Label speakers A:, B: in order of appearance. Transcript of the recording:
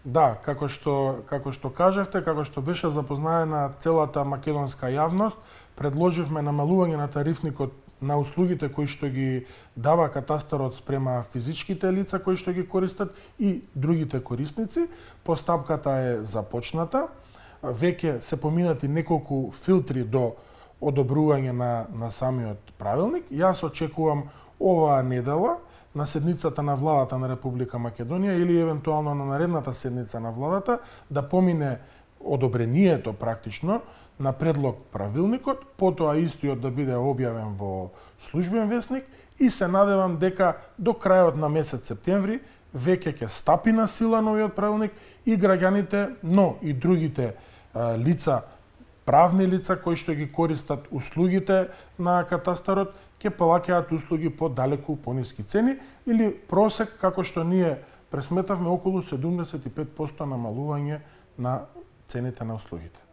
A: Да, како што кажавте, како што беше запознаена целата македонска јавност, предложивме намалување на тарифникот на услугите кои што ги дава катастарот спрема физичките лица кои што ги користат и другите корисници. Постапката е започната. Веќе се поминати неколку филтри до одобрување на самиот правилник. Јас очекувам оваа недела на седницата на владата на Република Македонија или евентуално на наредната седница на владата да помине одобрението практично на предлог правилникот, потоа истиот да биде објавен во службен весник и се надевам дека до крајот на месец септември веќе ќе стапи на сила новиот правилник и граѓаните, но и другите лица, правни лица кои што ги користат услугите на катастарот, ќе плаќаат услуги по далеку пониски цени или просек како што ние пресметавме околу 75% намалување на цените на услугите.